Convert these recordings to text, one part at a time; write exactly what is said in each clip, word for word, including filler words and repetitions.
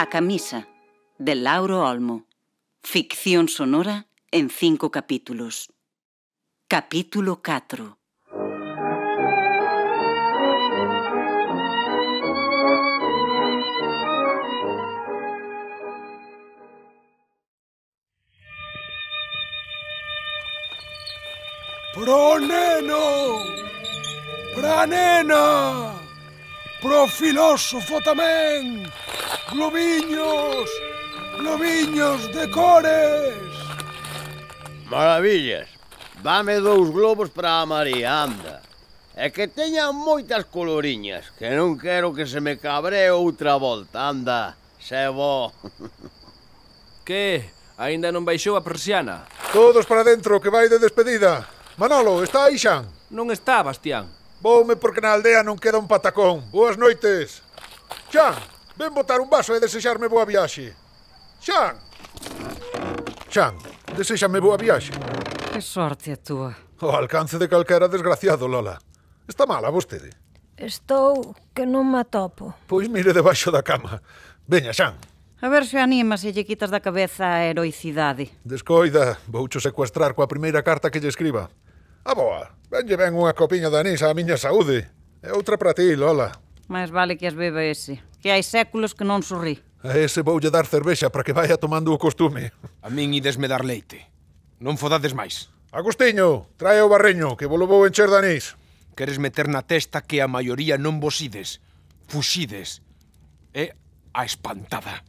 camisa, de Lauro Olmo. Ficción sonora en cinco capítulos. Capítulo catro. Pro neno! Pra nena! Pro filósofo tamén! Globiños! Globiños de cores! Maravillas! Dame dous globos para a María, anda. E que teñan moitas coloriñas, que non quero que se me cabree outra volta, anda. Se bo. Que? Aínda non baixou a persiana? Todos para dentro, que vai de despedida. Manolo, está aí Xan? Non está, Bastián. Voume porque na aldea non queda un patacón. Boas noites. Xan, ven botar un vaso e desexarme boa viaxe. Xan! Xan, desexame boa viaxe. Que sorte a túa. O alcance de calquera desgraciado, Lola. Está mala vostede? Estou que non me atopo. Pois mire debaixo da cama. Veña, Xan. A ver se animas e lle quitas da cabeza a heroicidade. Descoida, voucho secuestrar coa primeira carta que lle escriba. A boa, venlle ben unha copiña de anís á miña saúde. E outra para ti, Lola. Mais vale que as beba ese, que hai séculos que non sorrí. A ese voulle dar cervexa para que vaya tomando o costume. A min idesme dar leite. Non fodades máis. Agustiño, trae o barreño, que volo vou encher de anís. Queres meter na testa que a maioría non vos ides. Fuxides. É a espantada.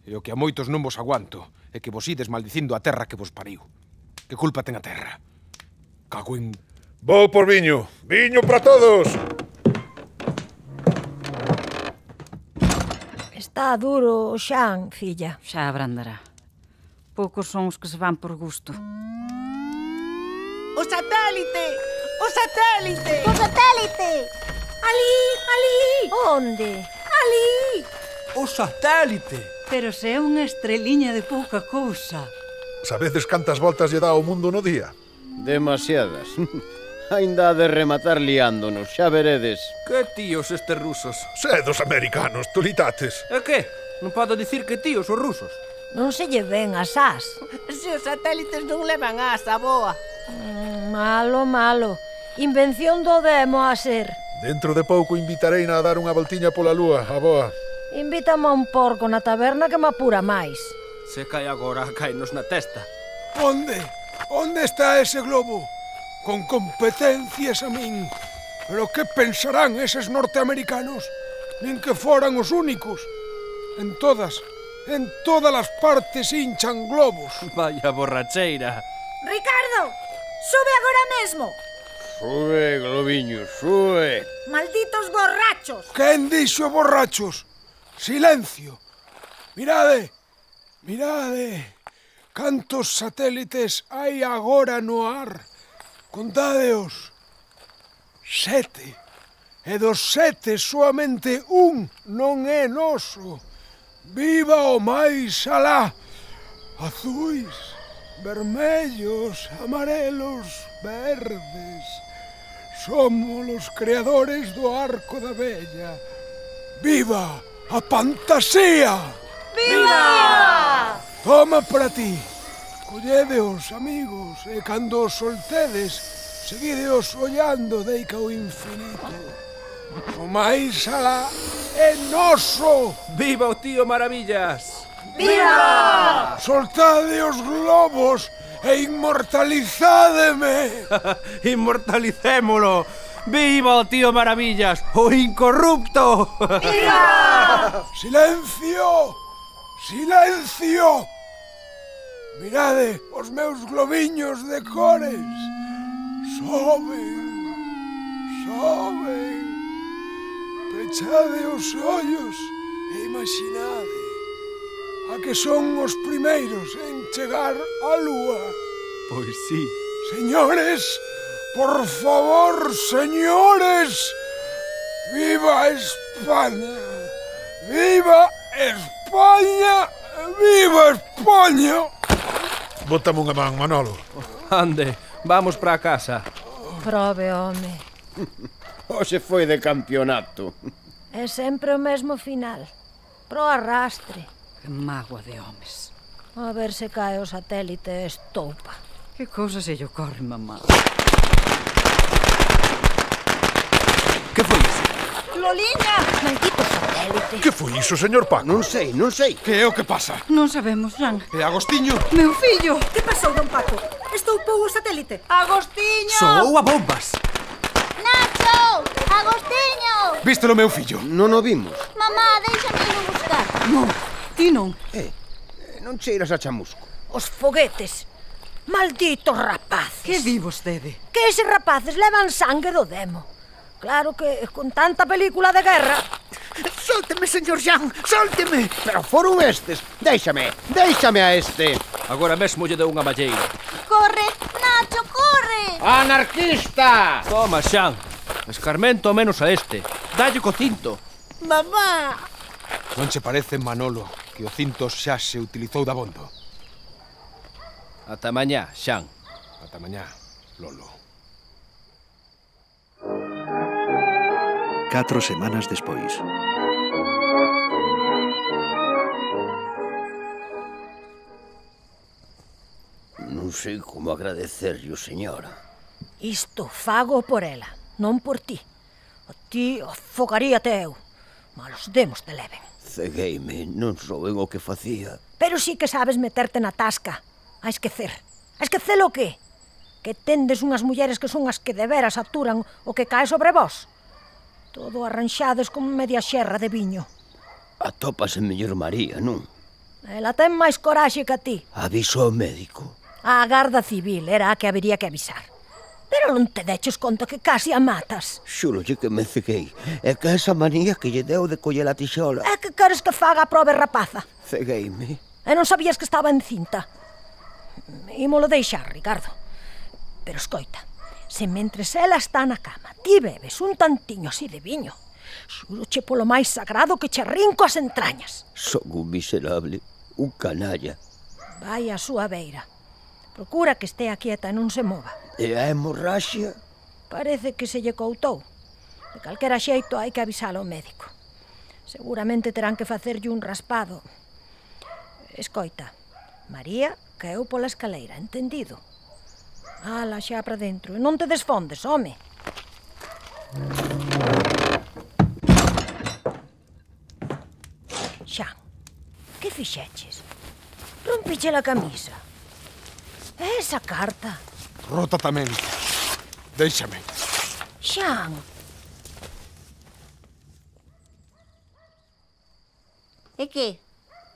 E o que a moitos non vos aguanto é que vos ides maldicindo a terra que vos pariu. Que culpa ten a terra? Cago en... Vou por viño. Viño para todos. Está duro o Xan, filla. Xa abrandará. Poucos son os que se van por gusto. O satélite! O satélite! O satélite! Ali, ali! Onde? Ali! O satélite! Pero se é unha estreliña de pouca cousa. Sabedes cantas voltas lle dá ao mundo no día? Demasiadas. Ainda ha de rematar liándonos, xa veredes. Que tíos estes rusos? Sedos americanos, tolitates. E que? Non podo dicir que tíos os rusos. Non se lle ven as as. Se os satélites non levan asa, boa. Mm, malo, malo. Invención do demo a ser. Dentro de pouco invitareina a dar unha voltiña pola lúa, a boa. Invítame a un porco na taberna que me apura máis. Se cae agora, caenos na testa. Onde? Onde está ese globo? Con competencias a min. Pero que pensarán eses norteamericanos? Nin que foran os únicos. En todas, en todas as partes hinchan globos. Vaya borracheira. Ricardo, sube agora mesmo. Sube, globiño, sube. Malditos borrachos. Quen dixo borrachos? Silencio. Mirade, mirade. Cantos satélites hai agora no ar? Contádeos. Sete. E dos sete soamente un non é noso. Viva o máis alá. Azuis, vermellos, amarelos, verdes. Somos os creadores do arco da vella. Viva a fantasía! Viva! Toma para ti. Colledeos, amigos, e cando os soltedes, seguideos ollando deica o infinito. O máis alá é noso. Viva o tío Maravillas! Viva! Soltade os globos e inmortalizádeme. Inmortalicémolo. Viva o tío Maravillas, o incorrupto. Viva! Silencio! Silencio! Mirade os meus globiños de cores. Soben, soben. Pechade os ollos e imaginade a que son os primeiros en chegar á lúa. Pois sí. Señores, por favor, señores, viva España, viva España, viva España. Bótame unha man, Manolo. Ande, vamos para casa. Prove, home. Hoxe foi de campeonato. É sempre o mesmo final. Pro arrastre. Que mágoa de homes. A ver se cae o satélite e estoupa. Que cousa se lle ocorre, mamá? Que foi iso? Loliña! Maldito satélite. Que foi iso, señor Paco? Non sei, non sei. Que é o que pasa? Non sabemos, Xan. E Agostiño? Meu fillo! Que pasou, don Paco? Estoupou o satélite. Agostiño! Soou a bombas. Nacho! Agostiño! Vístelo, meu fillo? Non o vimos. Mamá, déixame ir a buscar. Non, ti non. Eh, non cheiras a chamusco. Os foguetes. Malditos rapaces. Que di vostede? Que eses rapaces levan sangue do demo. Claro que con tanta película de guerra... Sólteme, señor Jean, sólteme. Pero foron estes. Déixame, déixame a este. Agora mesmo lle dou unha malleira. Corre, Nacho, corre! Anarquista! Toma, Xan. Escarmento menos a este. Dalle co cinto. Mamá! Non che parece, Manolo, que o cinto xa se utilizou dabondo? Ata mañá, Xan. Ata mañá, Lolo. Catro semanas despois. Non sei como agradecerlle, señora. Isto fago por ela, non por ti. A ti afogaríate eu. Malos demos te leven. Cegueime, non souben o que facía. Pero sí que sabes meterte na tasca. A esquecer. A esquecer o que? Que tendes unhas mulleres que son as que de veras aturan o que cae sobre vós. Todo arranxades como media xerra de viño. Atópase mellor María, non? Ela ten máis coraxe que a ti. Aviso ao médico. A Garda Civil era a que habería que avisar. Pero non te deches conta que casi a matas. Xúrolle que me ceguei. É que esa manía que lle deu de coller a tixola. É que queres que faga a probe rapaza? Cegueime. E non sabías que estaba encinta. Ímolo deixar, Ricardo. Pero escoita, se mentres ela está na cama ti bebes un tantiño así de viño, xuroche polo máis sagrado que che rinco as entrañas. Son un miserable, un canalla. Vai a súa beira. Procura que estea quieta e non se mova. E a hemorraxia? Parece que se lle coutou. De calquera xeito hai que avisalo ao médico. Seguramente terán que facerlle un raspado. Escoita, María caeu pola escaleira, entendido? Ala, xa para dentro. E non te desfondes, home. Xan, que fixeches? Rompiche a camisa. E esa carta? Rota tamén. Déixame. Xan. E que?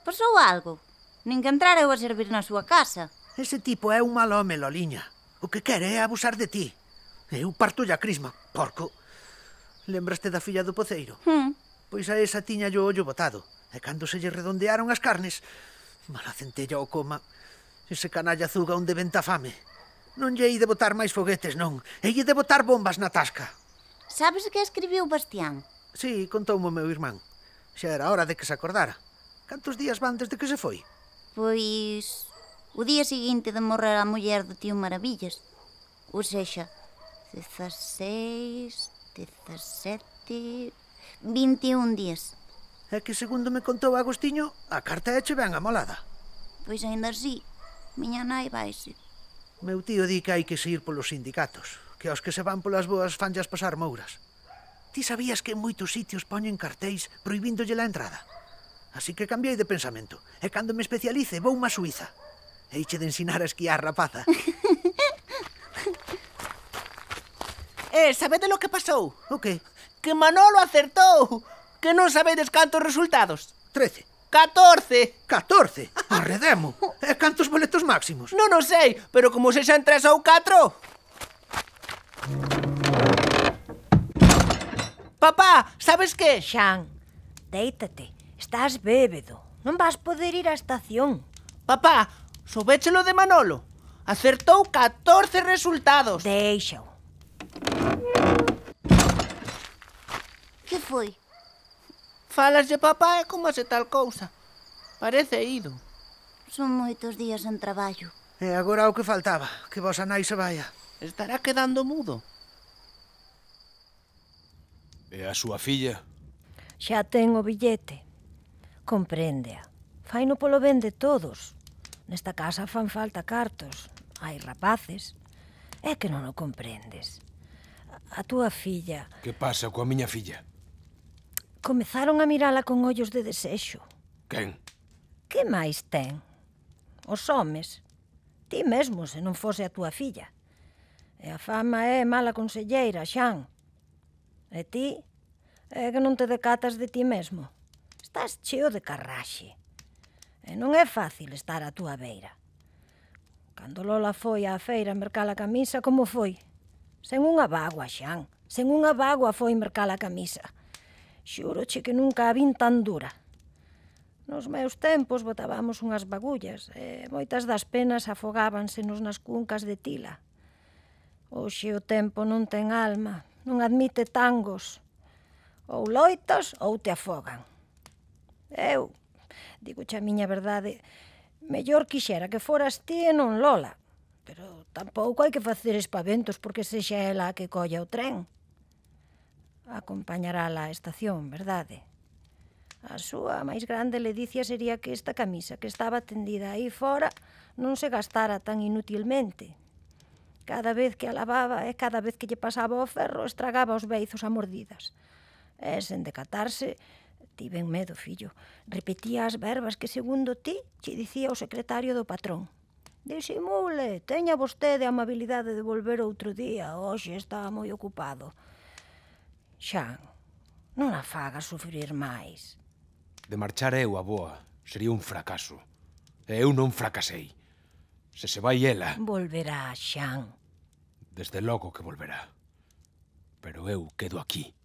Pasou algo? Nin que entrar eu a servir na súa casa. Ese tipo é un mal home, Loliña. O que quere é abusar de ti. Eu parto a crisma, porco. Lembraste da filla do poceiro? Hmm. Pois a esa tiña o ollo botado. E cando se lle redondearon as carnes, mala centella o coma. Ese canalla zuga onde venta fame. Non lle hei de botar máis foguetes, non. Hei de botar bombas na tasca. Sabes que escribiu Bastián? Sí, contoumo o meu irmán. Xa era hora de que se acordara. Cantos días van desde que se foi? Pois... o día seguinte de morrer a muller do tío Maravillas. Ou sexa, dezaseis, dezasete... vinte e un días. É que segundo me contou Agostiño, a carta éche ben amolada. Pois aínda así, miña nai vaise. Meu tío di que hai que seguir polos sindicatos, que aos que se van polas boas fanllas pasar mouras. Ti sabías que en moitos sitios poñen cartéis prohibíndolle a entrada? Así que cambiei de pensamento, e cando me especialice vou má Suiza. Eiche de ensinar a esquiar, rapaza. Eh, sabede lo que pasou? O que? Que Manolo acertou. Que non sabedes cantos resultados? Trece. Catorce. Catorce? Arredemo. E cantos boletos máximos? Non o sei, pero como se xa en tres ou catro. Papá, sabes que? Xan, déitate. Estás bébedo. Non vas poder ir á estación. Papá, soubéchelo de Manolo. Acertou catorce resultados. Deixao. Que foi? Falas de papá é como se tal cousa. Parece ido. Son moitos días en traballo. E agora o que faltaba, que vosa nai se vaya. Estará quedando mudo. E a súa filla? Xa ten o billete. Compréndea. Faino polo ben de todos. Nesta casa fan falta cartos. Hai rapaces. É que non o comprendes. A túa filla... Que pasa coa miña filla? Comezaron a mirala con ollos de desexo. Quen? Que máis ten? Os homes. Ti mesmo, se non fose a túa filla. E a fama é mala conselleira, Xan. E ti? É que non te decatas de ti mesmo. Estás cheo de carraxe. E non é fácil estar á túa beira. Cando Lola foi á feira a mercar a camisa, como foi? Sen unha bagua, Xan. Sen unha bagua foi mercar a camisa. Xúroche que nunca a vin tan dura. Nos meus tempos botábamos unhas bagullas e moitas das penas afogábansenos nas cuncas de tila. Hoxe o tempo non ten alma, non admite tangos. Ou loitas ou te afogan. Eu, digoche a miña verdade, mellor quixera que foras ti e non Lola. Pero tampouco hai que facer espaventos porque sexa ela a que colla o tren. Acompañarala á estación, verdade? A súa máis grande ledicia sería que esta camisa que estaba tendida aí fora non se gastara tan inutilmente. Cada vez que a lavaba e cada vez que lle pasaba o ferro estragaba os beizos a mordidas. E sen decatarse, tiven medo, fillo. Repetía as verbas que, segundo ti, che dicía o secretario do patrón. Disimule, teña vostede a amabilidade de volver outro día. Hoxe estaba moi ocupado. Xan, non a fagas sufrir máis. De marchar eu, a boa, sería un fracaso. E eu non fracasei. Se se vai ela... Volverá, Xan. Desde logo que volverá. Pero eu quedo aquí.